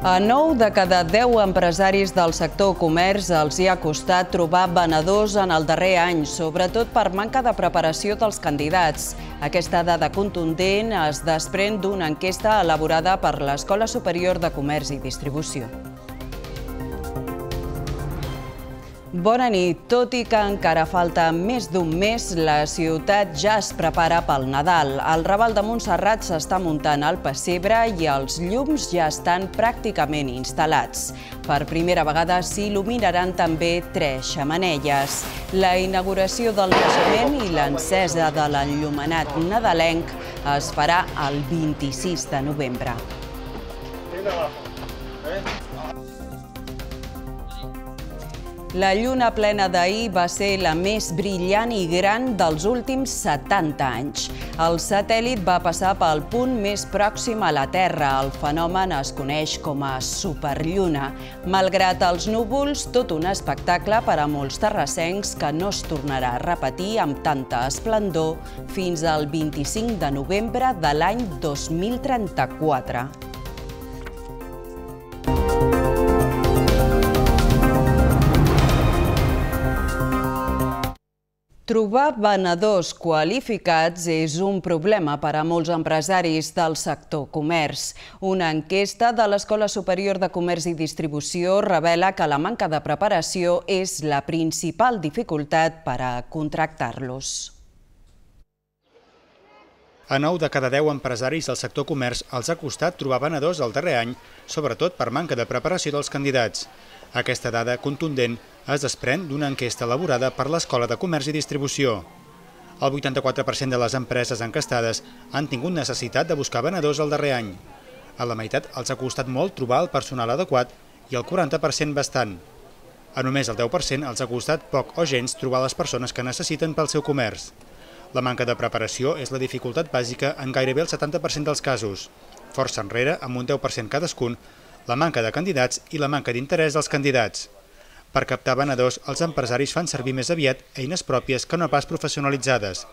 A 9 de cada 10 empresaris del sector comerç els hi ha costat trobar venedors en el darrer any, sobretot per manca de preparació dels candidats. Aquesta dada contundent es desprèn d'una enquesta elaborada per l'Escola Superior de Comerç i Distribució. Bona nit. Tot i que encara falta més d'un mes, la ciutat ja es prepara pel Nadal. El Raval de Montserrat s'està muntant al pessebre i els llums ja estan pràcticament instal·lats. Per primera vegada s'il·luminaran també 3 xemeneies. La inauguració del naixement i l'encesa de l'enllumenat nadalenc es farà el 26 de novembre. La lluna plena d'ahir va ser la més brillant i gran dels últims 70 anys. El satèl·lit va passar pel punt més pròxim a la Terra. El fenomen es coneix com a superlluna. Malgrat els núvols, tot un espectacle per a molts terrassencs que no es tornarà a repetir amb tanta esplendor fins al 25 de novembre de l'any 2034. Trobar venedors qualificats és un problema per a molts empresaris del sector comerç. Una enquesta de l'Escola Superior de Comerç i Distribució revela que la manca de preparació és la principal dificultat per a contractar-los. A 9 de cada 10 empresaris del sector comerç els ha costat trobar venedors el darrer any, sobretot per manca de preparació dels candidats. Aquesta dada contundent es desprèn d'una enquesta elaborada per l'Escola de Comerç i Distribució. El 84% de les empreses encastades han tingut necessitat de buscar venedors el darrer any. A la meitat els ha costat molt trobar el personal adequat i el 40% bastant. A només el 10% els ha costat poc o gens trobar les persones que necessiten pel seu comerç. La manca de preparació és la dificultat bàsica en gairebé el 70% dels casos. Força enrere, amb un 10% cadascun, la manca de candidats i la manca d'interès dels candidats. Per captar venedors, els empresaris fan servir més aviat eines pròpies que no pas professionalitzades.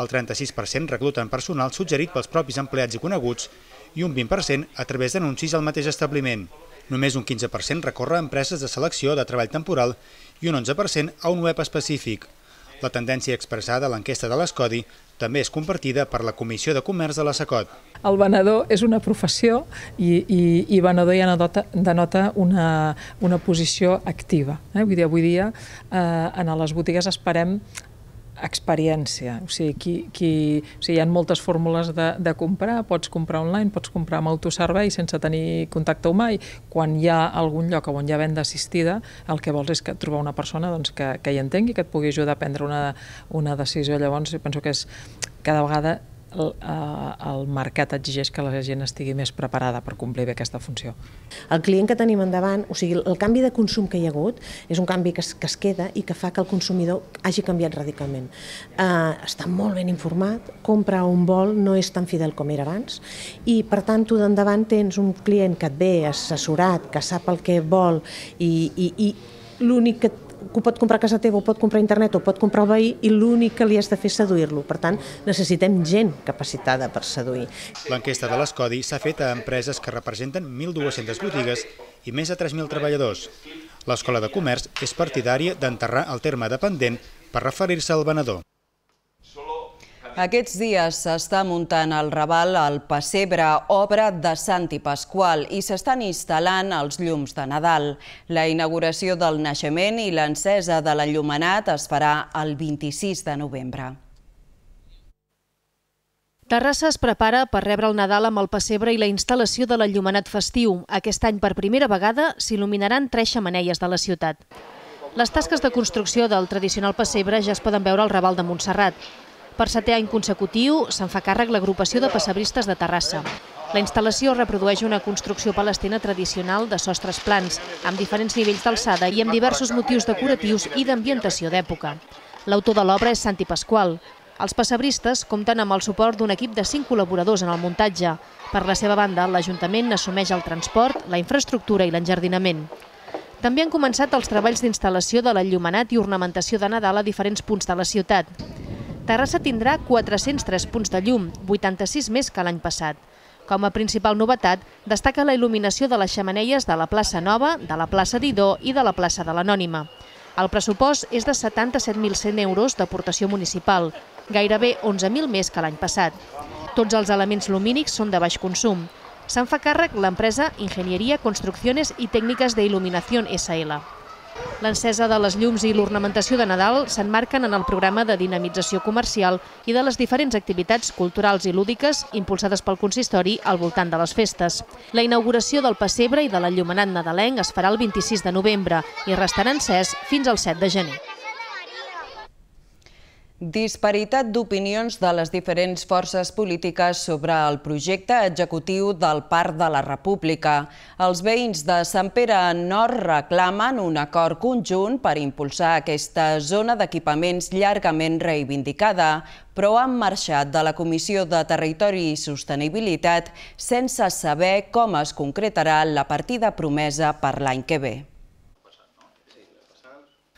El 36% recluten personal suggerit pels propis empleats i coneguts i un 20% a través d'anuncis al mateix establiment. Només un 15% recorre a empreses de selecció de treball temporal i un 11% a un web específic. La tendència expressada a l'enquesta de l'Escodi també és compartida per la Comissió de Comerç de la SACOT. El venedor és una professió i venedor ja denota una posició activa. Vull dir, avui dia en les botigues esperem experiència. O sigui, hi ha moltes fórmules de comprar, pots comprar online, pots comprar amb autoservei sense tenir contacte humà i quan hi ha algun lloc on hi ha venda assistida, el que vols és trobar una persona que hi entengui, que et pugui ajudar a prendre una decisió. Llavors, penso que cada vegada el mercat exigeix que la gent estigui més preparada per complir bé aquesta funció. El client que tenim endavant, o sigui, el canvi de consum que hi ha hagut és un canvi que es queda i que fa que el consumidor hagi canviat radicalment. Està molt ben informat, compra on vol, no és tan fidel com era abans i per tant tu d'endavant tens un client que et ve assessorat, que sap el que vol i l'únic que ho pot comprar a casa teva, ho pot comprar a internet, ho pot comprar al veí i l'únic que li has de fer és seduir-lo. Per tant, necessitem gent capacitada per seduir. L'enquesta de l'Escodi s'ha fet a empreses que representen 1.200 botigues i més de 3.000 treballadors. L'Escola de Comerç és partidària d'enterrar el terme dependent per referir-se al venedor. Aquests dies s'està muntant al Raval el pessebre, obra de Sant i Pasqual, i s'estan instal·lant els llums de Nadal. La inauguració del naixement i l'encesa de l'enllumenat es farà el 26 de novembre. Terrassa es prepara per rebre el Nadal amb el pessebre i la instal·lació de l'enllumenat festiu. Aquest any, per primera vegada, s'il·luminaran 3 xemeneies de la ciutat. Les tasques de construcció del tradicional pessebre ja es poden veure al Raval de Montserrat. Per 7è any consecutiu se'n fa càrrec l'agrupació de pessebristes de Terrassa. La instal·lació reprodueix una construcció palestina tradicional de sostres plans, amb diferents nivells d'alçada i amb diversos motius decoratius i d'ambientació d'època. L'autor de l'obra és Sant i Pasqual. Els pessebristes compten amb el suport d'un equip de 5 col·laboradors en el muntatge. Per la seva banda, l'Ajuntament assumeix el transport, la infraestructura i l'enjardinament. També han començat els treballs d'instal·lació de l'enllumenat i ornamentació de Nadal a diferents punts de la ciutat. Terrassa tindrà 403 punts de llum, 86 més que l'any passat. Com a principal novetat, destaca la il·luminació de les xemeneies de la plaça Nova, de la plaça Didó i de la plaça de l'Anònima. El pressupost és de 77.100 euros d'aportació municipal, gairebé 11.000 més que l'any passat. Tots els elements lumínics són de baix consum. Se'n fa càrrec l'empresa Ingeniería, Construcciones i Tècniques de Il·luminación SL. L'encesa de les llums i l'ornamentació de Nadal s'emmarquen en el programa de dinamització comercial i de les diferents activitats culturals i lúdiques impulsades pel consistori al voltant de les festes. La inauguració del pessebre i de l'enllumenat nadalenc es farà el 26 de novembre i restarà encès fins al 7 de gener. Disparitat d'opinions de les diferents forces polítiques sobre el projecte executiu del Parc de la República. Els veïns de Sant Pere Nord reclamen un acord conjunt per impulsar aquesta zona d'equipaments llargament reivindicada, però han marxat de la Comissió de Territori i Sostenibilitat sense saber com es concretarà la partida promesa per l'any que ve.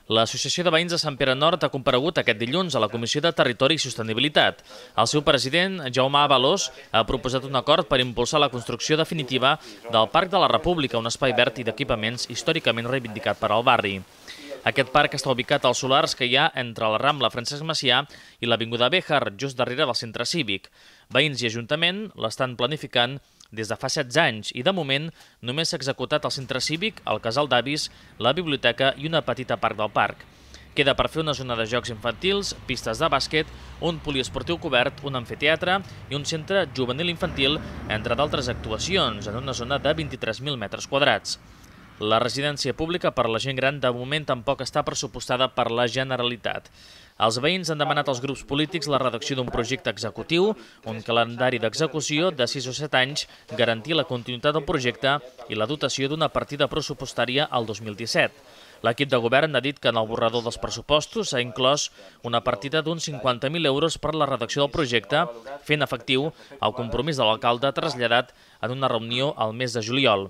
L'Associació de Veïns de Sant Pere Nord ha comparegut aquest dilluns a la Comissió de Territori i Sostenibilitat. El seu president, Jaume Avalós, ha proposat un acord per impulsar la construcció definitiva del Parc de la República, un espai verd i d'equipaments històricament reivindicat per al barri. Aquest parc està ubicat als solars que hi ha entre la Rambla Francesc Macià i l'Avinguda Béjar, just darrere del centre cívic. Veïns i Ajuntament l'estan planificant des de fa 16 anys i, de moment, només s'ha executat el centre cívic, el casal d'avis, la biblioteca i una petita part del parc. Queda per fer una zona de jocs infantils, pistes de bàsquet, un poliesportiu cobert, un amfiteatre i un centre juvenil infantil, entre d'altres actuacions, en una zona de 23.000 metres quadrats. La residència pública per a la gent gran de moment tampoc està pressupostada per la Generalitat. Els veïns han demanat als grups polítics la redacció d'un projecte executiu, un calendari d'execució de 6 o 7 anys, garantir la continuïtat del projecte i la dotació d'una partida pressupostària al 2017. L'equip de govern ha dit que en el borrador dels pressupostos s'ha inclòs una partida d'uns 50.000 euros per la redacció del projecte, fent efectiu el compromís de l'alcalde traslladat en una reunió al mes de juliol.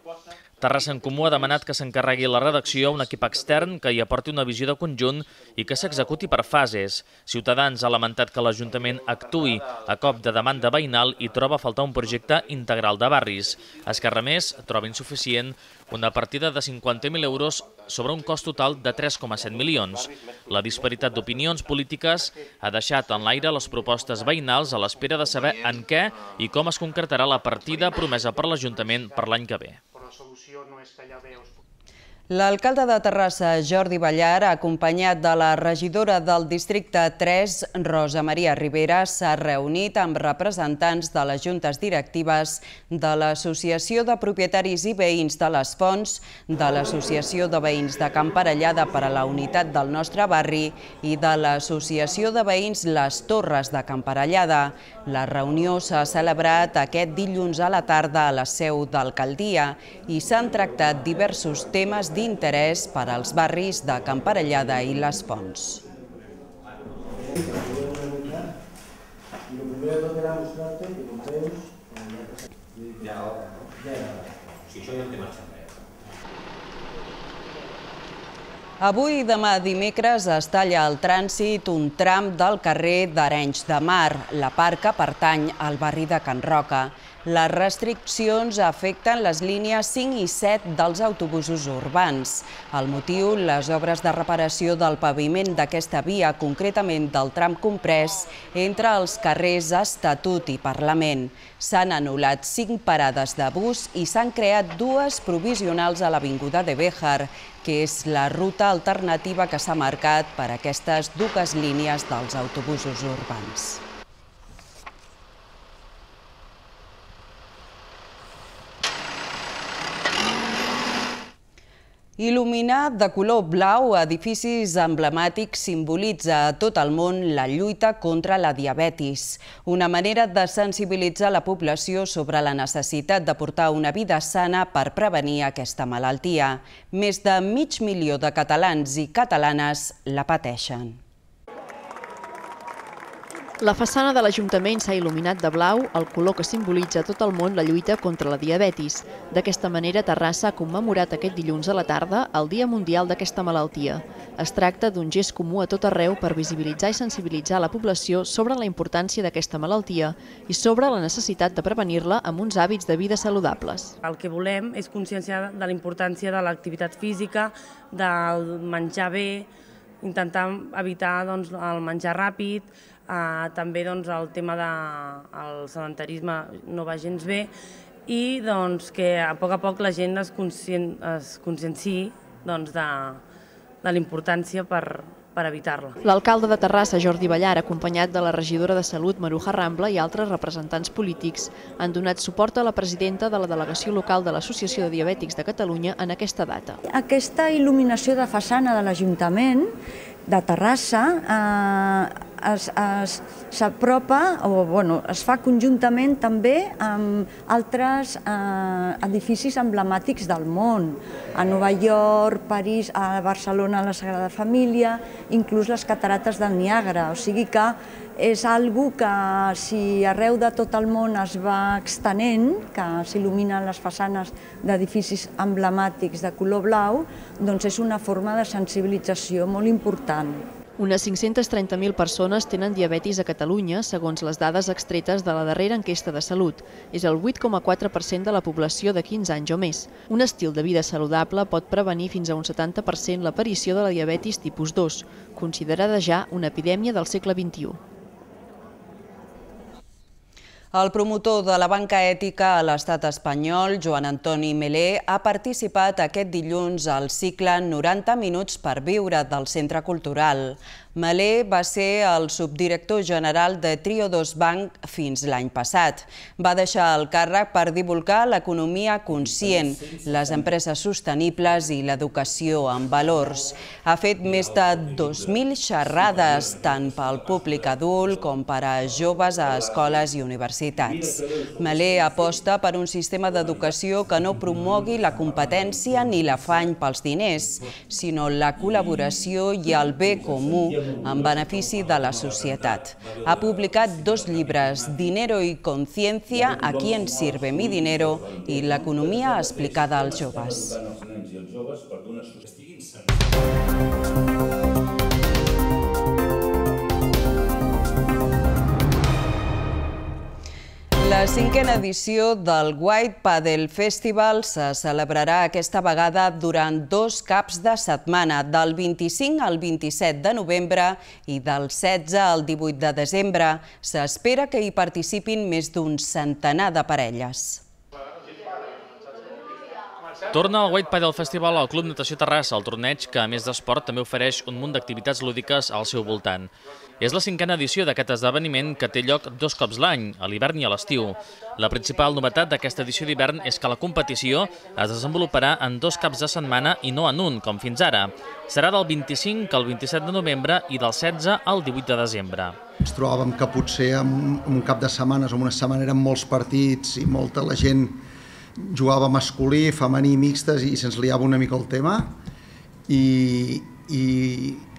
Terrassa en Comú ha demanat que s'encarregui la redacció a un equip extern que hi aporti una visió de conjunt i que s'executi per fases. Ciutadans ha lamentat que l'Ajuntament actuï a cop de demanda veïnal i troba a faltar un projecte integral de barris. Esquerra Més troba insuficient una partida de 50.000 euros sobre un cost total de 3,7 milions. La disparitat d'opinions polítiques ha deixat en l'aire les propostes veïnals a l'espera de saber en què i com es concretarà la partida promesa per l'Ajuntament per l'any que ve. L'alcalde de Terrassa, Jordi Ballar, acompanyat de la regidora del districte 3, Rosa Maria Rivera, s'ha reunit amb representants de les juntes directives de l'Associació de Propietaris i Veïns de les Fonts, de l'Associació de Veïns de Can Parellada per a la Unitat del Nostre Barri i de l'Associació de Veïns Les Torres de Can Parellada. La reunió s'ha celebrat aquest dilluns a la tarda a la seu d'alcaldia i s'han tractat diversos temes d'interès per als barris de Can Parellada i Les Fonts. Avui i demà dimecres es talla el trànsit un tram del carrer d'Arenys de Mar, la part que pertany al barri de Can Roca. Les restriccions afecten les línies 5 i 7 dels autobusos urbans. El motiu, les obres de reparació del paviment d'aquesta via, concretament del tram comprès, entre els carrers Estatut i Parlament. S'han anul·lat 5 parades de bus i s'han creat 2 provisionals a l'Avinguda de Béjar, que és la ruta alternativa que s'ha marcat per a aquestes 2 línies dels autobusos urbans. Il·luminar de color blau edificis emblemàtics simbolitza a tot el món la lluita contra la diabetis, una manera de sensibilitzar la població sobre la necessitat de portar una vida sana per prevenir aquesta malaltia. Més de 500.000 de catalans i catalanes la pateixen. La façana de l'Ajuntament s'ha il·luminat de blau, el color que simbolitza a tot el món la lluita contra la diabetis. D'aquesta manera, Terrassa ha commemorat aquest dilluns a la tarda el Dia Mundial d'aquesta malaltia. Es tracta d'un gest comú a tot arreu per visibilitzar i sensibilitzar la població sobre la importància d'aquesta malaltia i sobre la necessitat de prevenir-la amb uns hàbits de vida saludables. El que volem és conscienciar de la importància de l'activitat física, del menjar bé, intentar evitar el menjar ràpid, també el tema del sedentarisme no va gens bé i que a poc la gent es conscienciï de la importància per evitar-la. L'alcalde de Terrassa, Jordi Ballar, acompanyat de la regidora de Salut, Maruja Rambla, i altres representants polítics, han donat suport a la presidenta de la delegació local de l'Associació de Diabètics de Catalunya en aquesta data. Aquesta il·luminació de façana de l'Ajuntament de Terrassa s'apropa, es fa conjuntament també amb altres edificis emblemàtics del món. A Nova York, París, a Barcelona, la Sagrada Família, inclús les catarates del Niàgara. O sigui que és algo que si arreu de tot el món es va extenent, que s'il·luminen les façanes d'edificis emblemàtics de color blau, doncs és una forma de sensibilització molt important. Unes 530.000 persones tenen diabetis a Catalunya, segons les dades extretes de la darrera enquesta de salut. És el 8,4% de la població de 15 anys o més. Un estil de vida saludable pot prevenir fins a un 70% l'aparició de la diabetis tipus 2, considerada ja una epidèmia del segle XXI. El promotor de la banca ètica a l'estat espanyol, Joan Antoni Melé, ha participat aquest dilluns al cicle 90 minuts per viure del Centre Cultural. Melé va ser el subdirector general de Triodos Bank fins l'any passat. Va deixar el càrrec per divulgar l'economia conscient, les empreses sostenibles i l'educació en valors. Ha fet més de 2.000 xerrades, tant pel públic adult com per a joves a escoles i universitats. Melé aposta per un sistema d'educació que no promogui la competència ni l'afany pels diners, sinó la col·laboració i el bé comú en benefici de la societat. Ha publicat 2 llibres, Dinero y Conciencia, A quién sirve mi dinero i l'economia explicada als joves. La 5a edició del White Paddle Festival se celebrarà aquesta vegada durant 2 caps de setmana, del 25 al 27 de novembre i del 16 al 18 de desembre. S'espera que hi participin més d'un centenar de parelles. Torna al White Paddle Festival al Club Natació Terrassa, el torneig que, a més d'esport, també ofereix un munt d'activitats lúdiques al seu voltant. És la 5a edició d'aquest esdeveniment que té lloc 2 cops l'any, a l'hivern i a l'estiu. La principal novetat d'aquesta edició d'hivern és que la competició es desenvoluparà en 2 caps de setmana i no en un, com fins ara. Serà del 25 al 27 de novembre i del 16 al 18 de desembre. Ens trobàvem que potser en un cap de setmanes o en una setmana eren molts partits i molta la gent jugava masculí, femení, mixtes i se'ns liava una mica el tema i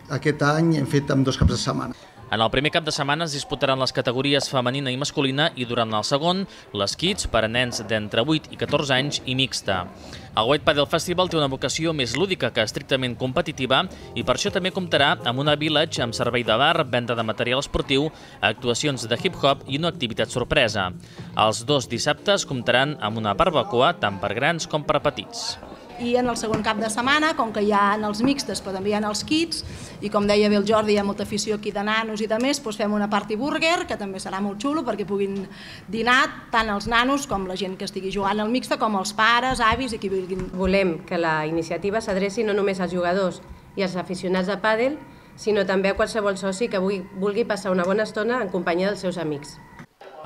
aquest any hem fet amb 2 caps de setmana. En el primer cap de setmana es disputaran les categories femenina i masculina i durant el segon, les Kids per a nens d'entre 8 i 14 anys i mixta. El White Paddle Festival té una vocació més lúdica que estrictament competitiva i per això també comptarà amb una village amb servei de bar, venda de material esportiu, actuacions de hip-hop i una activitat sorpresa. Els 2 dissabtes comptaran amb una barbacoa tant per grans com per petits. I en el segon cap de setmana, com que hi ha els mixtes però també hi ha els kids, i com deia bé el Jordi, hi ha molta afició aquí de nanos i de més, doncs fem una party burger, que també serà molt xulo perquè puguin dinar tant els nanos com la gent que estigui jugant al mixte, com els pares, avis i qui vulguin. Volem que la iniciativa s'adreci no només als jugadors i als aficionats de pàdel, sinó també a qualsevol soci que vulgui passar una bona estona en companyia dels seus amics.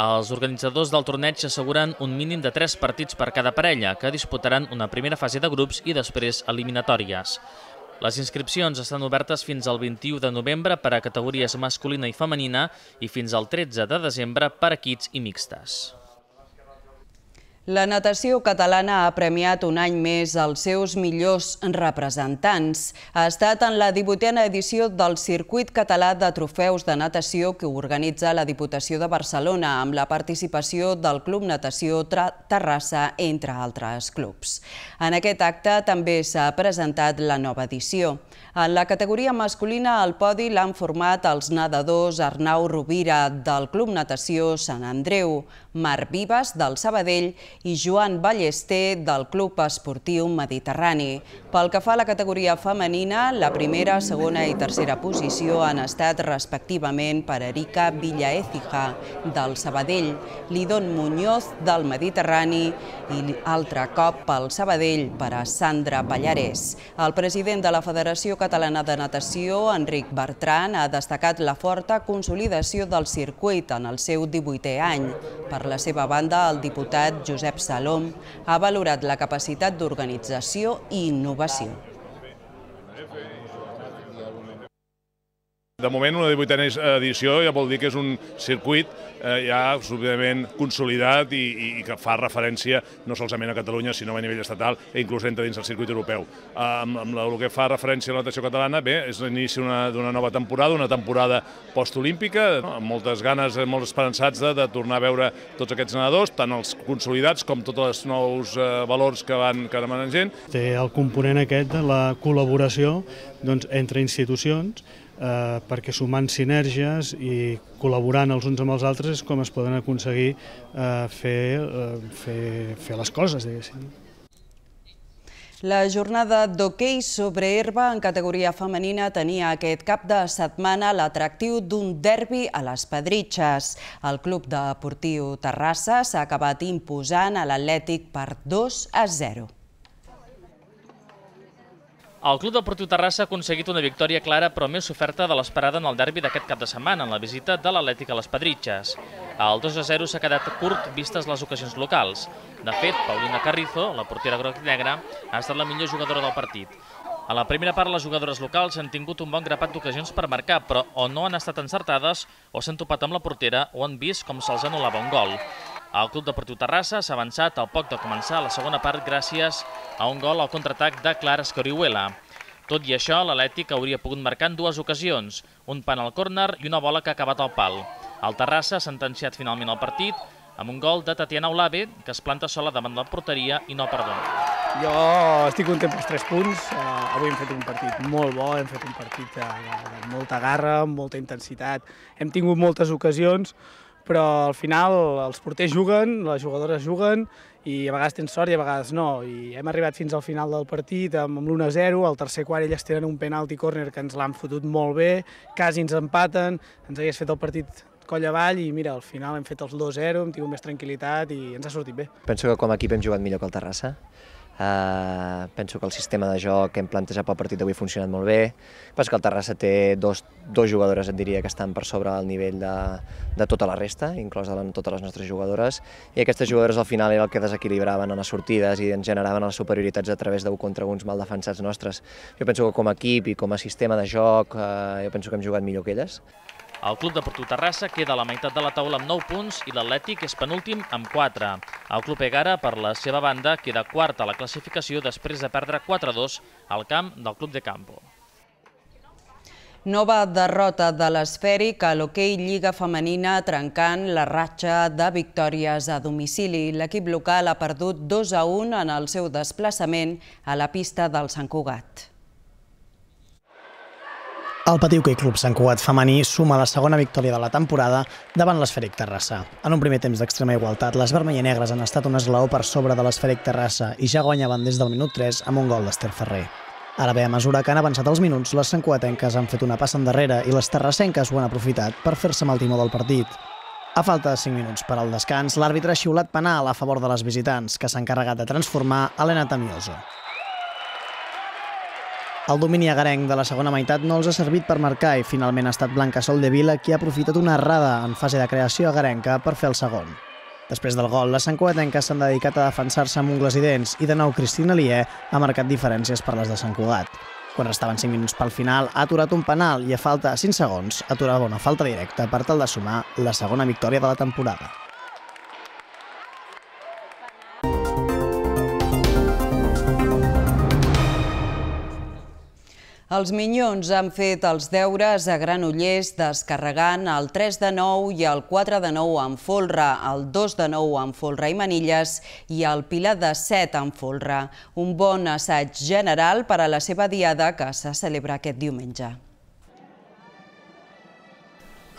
Els organitzadors del torneig asseguren un mínim de 3 partits per cada parella, que disputaran una primera fase de grups i després eliminatòries. Les inscripcions estan obertes fins al 21 de novembre per a categories masculina i femenina i fins al 13 de desembre per a kids i mixtes. La natació catalana ha premiat un any més els seus millors representants. Ha estat en la 18a edició del Circuit Català de Trofeus de Natació que organitza la Diputació de Barcelona amb la participació del Club Natació Terrassa, entre altres clubs. En aquest acte també s'ha presentat la nova edició. En la categoria masculina al podi l'han format els nedadors Arnau Rovira del Club Natació Sant Andreu, Marc Vives del Sabadell i Joan Ballester del Club Esportiu Mediterrani. Pel que fa a la categoria femenina, la primera, segona i tercera posició han estat respectivament per Erika Villaécija del Sabadell, Lidon Muñoz del Mediterrani i altre cop pel Sabadell per a Sandra Pallarès. El president de la Federació Catalana de Natació, Enric Bertran, ha destacat la forta consolidació del circuit en el seu 18è any. Per la seva banda, el diputat Josep Salom ha valorat la capacitat d'organització i innovació. De moment, una 18a edició ja vol dir que és un circuit ja absolutament consolidat i que fa referència no solament a Catalunya, sinó a nivell estatal i inclús entra dins el circuit europeu. Amb el que fa referència a la natació catalana, bé, és l'inici d'una nova temporada, una temporada postolímpica, amb moltes ganes, molt esperançats de tornar a veure tots aquests nedadors, tant els consolidats com tots els nous valors que van demanen gent. Té el component aquest de la col·laboració entre institucions, perquè sumant sinergies i col·laborant els uns amb els altres és com es poden aconseguir fer les coses, diguéssim. La jornada d'hoquei sobre herba en categoria femenina tenia aquest cap de setmana l'atractiu d'un derbi a les Pedritxes. El Club Deportiu Terrassa s'ha acabat imposant a l'Atlètic per 2-0. El Club Deportiu Terrassa ha aconseguit una victòria clara però més oferta de l'esperada en el derbi d'aquest cap de setmana, en la visita de l'Atlètic a les Pedritxes. El 2-0 s'ha quedat curt vistes les ocasions locals. De fet, Paulina Carrizo, la portera groc i negra, ha estat la millor jugadora del partit. A la primera part, les jugadores locals han tingut un bon grapat d'ocasions per marcar, però o no han estat encertades, o s'han topat amb la portera, o han vist com se'ls anul·lava un gol. El Club Deportiu Terrassa s'ha avançat al poc de començar la segona part gràcies a un gol al contraatac de Clara Escorihuela. Tot i això, l'Atlètic hauria pogut marcar en dues ocasions, un pal al córner i una bola que ha acabat al pal. El Terrassa ha sentenciat finalment el partit amb un gol de Tatiana Olave, que es planta sola davant de la porteria i no perdona. Jo estic content pels 3 punts. Avui hem fet un partit molt bo, hem fet un partit de molta garra, amb molta intensitat. Hem tingut moltes ocasions, però al final els porters juguen, les jugadores juguen i a vegades tens sort i a vegades no. I hem arribat fins al final del partit amb l'1-0, al tercer quart elles tenen un penalti córner que ens l'han fotut molt bé, quasi ens empaten, ens hagués fet el partit coll avall i mira, al final hem fet els 2-0, hem tingut més tranquil·litat i ens ha sortit bé. Penso que com a equip hem jugat millor que el Terrassa. Penso que el sistema de joc que hem plantejat pel partit d'avui ha funcionat molt bé. Penso que el Terrassa té dos jugadores, et diria, que estan per sobre el nivell de tota la resta, inclòs totes les nostres jugadores, i aquestes jugadores al final era el que desequilibraven en les sortides i ens generaven les superioritats a través d'1 contra 1 mal defensats nostres. Jo penso que com a equip i com a sistema de joc, jo penso que hem jugat millor que elles. El Club Deportiu Terrassa queda a la meitat de la taula amb 9 punts i l'Atlètic és penúltim amb 4. El Club Egara, per la seva banda, queda quart a la classificació després de perdre 4-2 al camp del Club de Campo. Nova derrota de l'Esfèric a l'hoquei Lliga Femenina trencant la ratxa de victòries a domicili. L'equip local ha perdut 2-1 en el seu desplaçament a la pista del Sant Cugat. El Patí Hoquei Club Sant Cugat femení suma la segona victòria de la temporada davant l'Esfèric Terrassa. En un primer temps d'extrema igualtat, les vermell-i-negres han estat un esglaó per sobre de l'Esfèric Terrassa i ja guanyaven des del minut 3 amb un gol d'Ester Ferrer. Ara bé, a mesura que han avançat els minuts, les santcugatenques han fet una passa endarrere i les terrassenques ho han aprofitat per fer-se amb el timó del partit. A falta de 5 minuts per al descans, l'àrbitre ha xiulat penal a favor de les visitants, que s'ha encarregat de transformar Helena Tamioso. El domini agarenc de la segona meitat no els ha servit per marcar i finalment ha estat Blanca Soldevila qui ha aprofitat una errada en fase de creació agarenca per fer el segon. Després del gol, les santcugatenques s'han dedicat a defensar-se amb ungles i dents i de nou Cristina Lier ha marcat diferències per les de Sant Cugat. Quan restaven 5 minuts pel final, ha aturat un penal i a falta de 5 segons aturava una falta directa per tal de sumar la segona victòria de la temporada. Els Minyons han fet els deures a Granollers descarregant el 3 de 9 i el 4 de 9 amb folre, el 2 de 9 amb folre i manilles i el Pilar de 7 amb folre. Un bon assaig general per a la seva diada que se celebra aquest diumenge.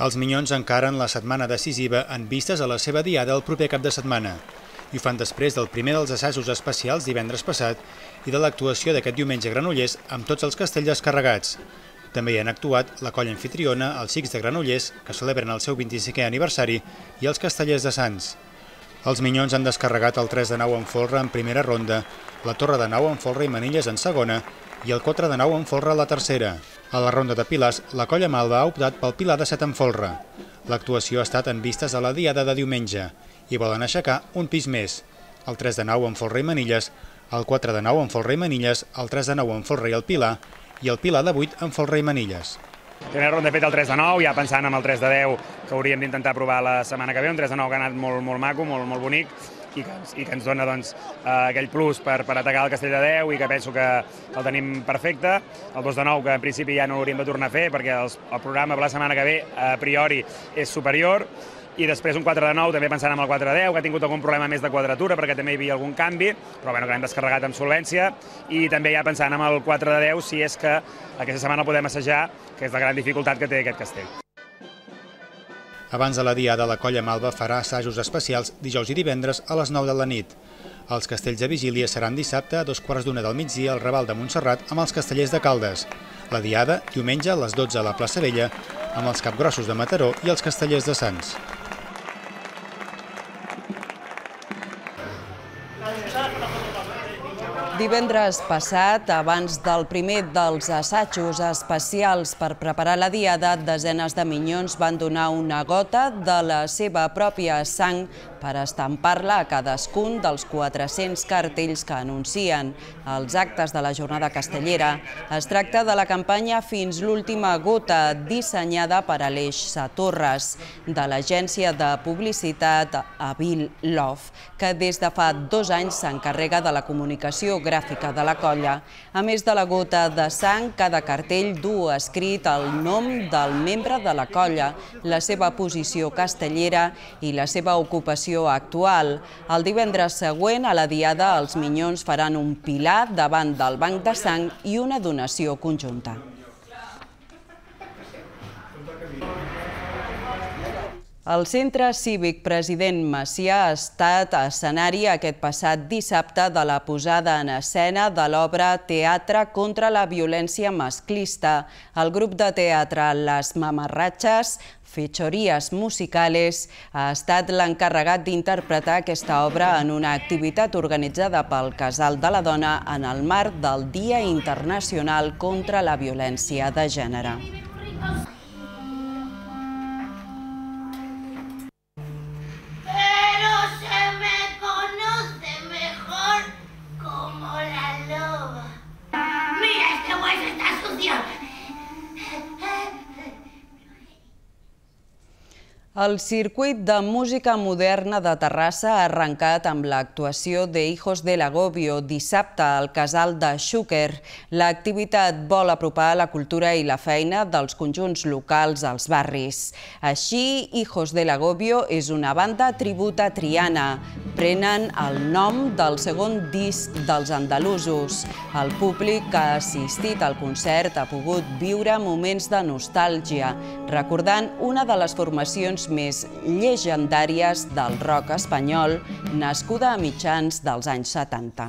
Els Minyons encaren la setmana decisiva en vistes a la seva diada el proper cap de setmana. I ho fan després del primer dels assajos especials divendres passat i de l'actuació d'aquest diumenge a Granollers amb tots els castells descarregats. També hi han actuat la colla anfitriona, els Xics de Granollers, que celebren el seu 25è aniversari, i els Castellers de Sants. Els Minyons han descarregat el 3 de 9 en folre en primera ronda, la Torre de 9 en folre i manilles en segona i el 4 de 9 en folre a la tercera. A la ronda de pilars, la colla Malva ha optat pel Pilar de 7 en folre. L'actuació ha estat en vistes a la diada de diumenge i volen aixecar un pis més, el 3 de 9 en folre i manilles, el 4 de 9 en folre i manilles, el 3 de 9 en folre i el Pilar, i el Pilar de 8 en folre i manilles. Primera ronda he fet el 3 de 9, ja pensant en el 3 de 10 que hauríem d'intentar provar la setmana que ve, un 3 de 9 que ha anat molt maco, molt bonic, i que ens dona aquell plus per atacar el castell de 10 i que penso que el tenim perfecte. El 2 de 9 que en principi ja no l'hauríem de tornar a fer perquè el programa per la setmana que ve a priori és superior. I després un 4 de 9, també pensant en el 4 de 10, que ha tingut algun problema més de quadratura perquè també hi havia algun canvi, però bueno, que l'hem descarregat amb solvència. I també ja pensant en el 4 de 10, si és que aquesta setmana el podem assajar, que és la gran dificultat que té aquest castell. Abans de la diada, la colla Malva farà assajos especials dijous i divendres a les 9 de la nit. Els castells de vigília seran dissabte a 2:45 del migdia al Raval de Montserrat amb els Castellers de Caldes. La diada, diumenge a les 12 a la plaça Vella, amb els Capgrossos de Mataró i els Castellers de Sants. Divendres passat, abans del primer dels assajos especials per preparar la diada, desenes de minyons van donar una gota de la seva pròpia sang per estampar-la a cadascun dels 400 cartells que anuncien els actes de la jornada castellera. Es tracta de la campanya Fins l'última gota, dissenyada per Aleix Satorres, de l'agència de publicitat Avil Love, que des de fa 2 anys s'encarrega de la comunicació gràfica de la colla. A més de la gota de sang, cada cartell du escrit el nom del membre de la colla, la seva posició castellera i la seva ocupació actual. El divendres següent, a la diada, els Minyons faran un pilar davant del banc de sang i una donació conjunta. El Centre Cívic President Macià ha estat escenari aquest passat dissabte de la posada en escena de l'obra Teatre contra la violència masclista. El grup de teatre Les Mamarratxes, Fechorías Musicales, ha estat l'encarregat d'interpretar aquesta obra en una activitat organitzada pel Casal de la Dona en el marc del Dia Internacional contra la Violència de Gènere. El circuit de música moderna de Terrassa ha arrencat amb l'actuació de Hijos del Agobio dissabte al Casal de Xúquer. L'activitat vol apropar la cultura i la feina dels conjunts locals als barris. Així, Hijos del Agobio és una banda tribut a Triana. Prenen el nom del segon disc dels andalusos. El públic que ha assistit al concert ha pogut viure moments de nostàlgia, recordant una de les formacions més llegendàries del rock espanyol, nascuda a mitjans dels anys 70.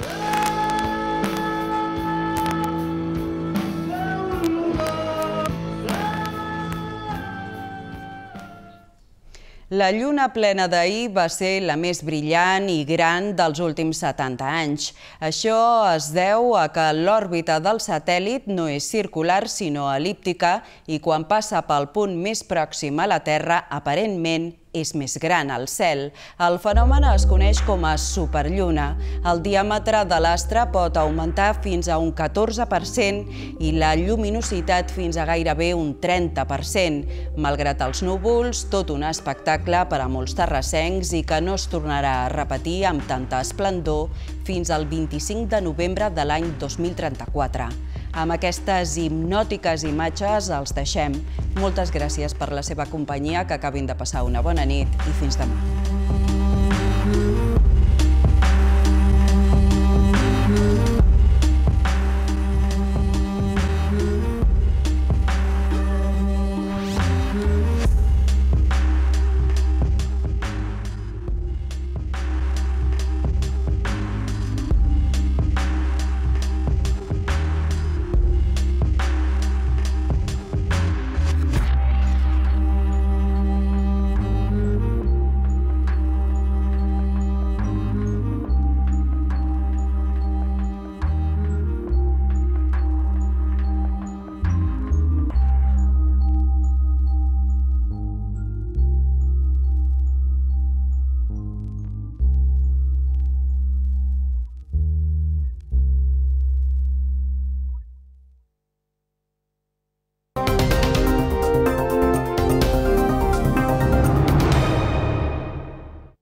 La lluna plena d'ahir va ser la més brillant i gran dels últims 70 anys. Això es deu a que l'òrbita del satèl·lit no és circular sinó el·líptica i quan passa pel punt més pròxim a la Terra, aparentment és més gran al cel. El fenomen es coneix com a superlluna. El diàmetre de l'astre pot augmentar fins a un 14% i la lluminositat fins a gairebé un 30%. Malgrat els núvols, tot un espectacle per a molts terrassencs i que no es tornarà a repetir amb tanta esplendor fins al 25 de novembre de l'any 2034. Amb aquestes hipnòtiques imatges els deixem. Moltes gràcies per la seva companyia, que acabin de passar una bona nit i fins demà.